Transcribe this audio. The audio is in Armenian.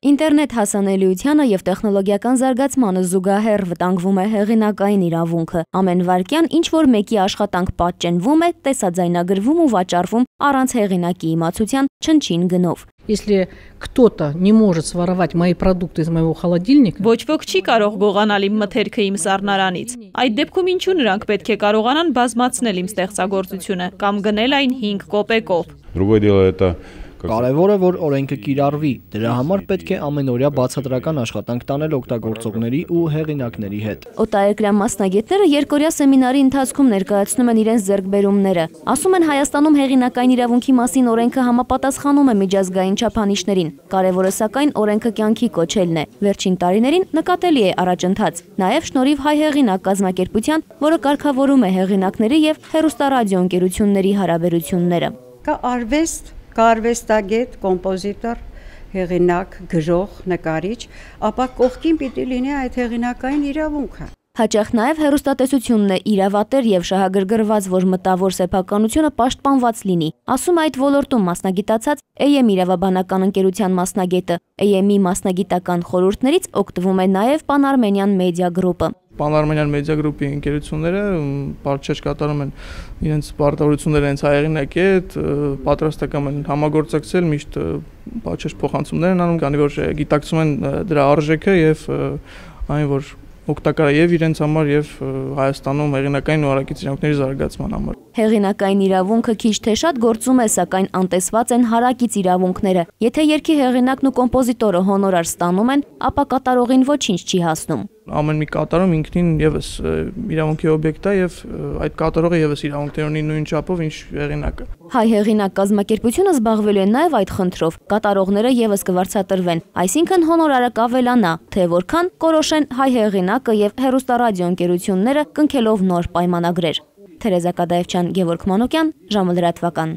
Ինտերնետ հասանելիությանը և տեխնոլոգիական զարգացմանը զուգահեռ վտանգվում է հեղինակային իրավունքը։ Ամեն վայրկյան ինչ-որ մեկի աշխատանք պատճենվում է, տեսաձայնագրվում ու վաճառվում առանց հեղինակի իմացության չնչին գնով։ Если кто-то не может своровать мои продукты из моего холодильника, ոչ ոք չի կարող գողանալ իմ մթերքը իմ սառնարանից։ Այդ դեպքում ինչու նրանք պետք է կարողանան բազմացնել իմ ստեղծագործությունը կամ գնել այն 5 կոպեկով։ Другое дело это Կարևոր է, որ օրենքը կիրառվի։ Դրա համար պետք է ամենօրյա բացատրական աշխատանք տանել օգտագործողների ու հեղինակների հետ։ Օտարերկրյա մասնագետները երկօրյա սեմինարի ընթացքում ներկայացնում են իրենց ձեռքբերումները։ Ասում են Հայաստանում հեղինակային իրավունքի մասին օրենքը համապատասխանում է միջազգային չափանիշներին։ Կարևորը սակայն օրենքը կյանքի կոչելն է։ Վերջին տարիներին նկատելի է առաջընթաց։ Նաև շնորհիվ հայ հեղինակ կազմակերպության, որը կարգավորում է հեղինակների եւ հեռուստարադիոընկերությունների հարաբերությունները։ Կա արվեստ, կարվեստագետ, կոմպոզիտոր, հեղինակ, գրող, նկարիչ, ապա կողքին պիտի լինի այդ հեղինակային իրավունքը։ Հաճախ նաև հեռուստատեսությունն է իրավատեր եւ շահագրգռված, որ մտավոր սեփականությունը պաշտպանված լինի։ Ասում այդ ոլորտում մասնագիտացած AM իրավաբանական ընկերության մասնագետը։ AM-ի մասնագիտական խորհուրդներից օգտվում է նաև Pan-Armenian Media Group-ը։ Pan-Armenian Media Group-ի ընկերությունները բարչեջ կատարում են իրենց պարտավորությունները հենց հայերենի հետ, պատրաստական են համագործակցել, միշտ բարչեջ փոխանցումներ են անում, քանի որ գիտակցում են դրա արժեքը եւ այն որ օգտակար է եւ իրենց համար եւ Հայաստանում հեղինակային ու հարակից իրավունքների զարգացման համար։ Հեղինակային իրավունքը քիչ թե շատ գործում է, սակայն անտեսված են հարակից իրավունքները։ Եթե երգի հեղինակն ու կոմպոզիտորը հոնորար ստանում են, ապա կատարողին ոչինչ չի հասնում։ Ամեն մի կատարում ինքնին եւս իրավունքի օբյեկտ է եւ այդ կատարողը եւս իրավունքներ ունի նույն չափով ինչ հեղինակը։ Հայ հեղինակ կազմակերպությունը զբաղվելու է նաեւ այդ խնդրով։ Կատարողները եւս կվարձատրվեն, այսինքն հոնորարը կավելանա, թե որքան կորոշեն հայ հեղինակը եւ հեռուստարադիոընկերությունները կնքելով նոր պայմանագրեր։ Թերեզա Կադաևչյան, Գևորգ Մանուկյան, ժամը լրատվական։